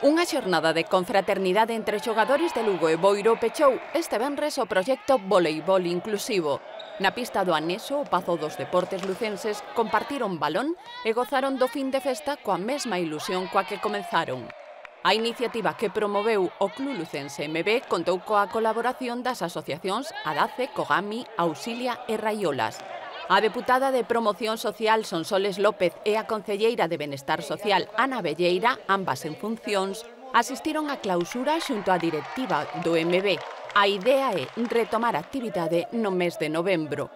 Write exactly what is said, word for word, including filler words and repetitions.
Unha xornada de confraternidade entre xogadores de Lugo e Boiro pechou este venres o proxecto Voleibol Inclusivo. Na pista do Anexo, o Pazo dos Deportes lucenses compartiron balón e gozaron do fin de festa coa mesma ilusión coa que comenzaron. A iniciativa que promoveu o Club Lucense M B contou coa colaboración das asociacións Adace, Cogami, Auxilia e Raiolas. A deputada de Promoción Social Sonsoles López e a concelleira de Benestar Social Ana Velleira, ambas en funcións, asistiron á clausura xunto á directiva do M B. A idea é retomar a actividade no mes de novembro.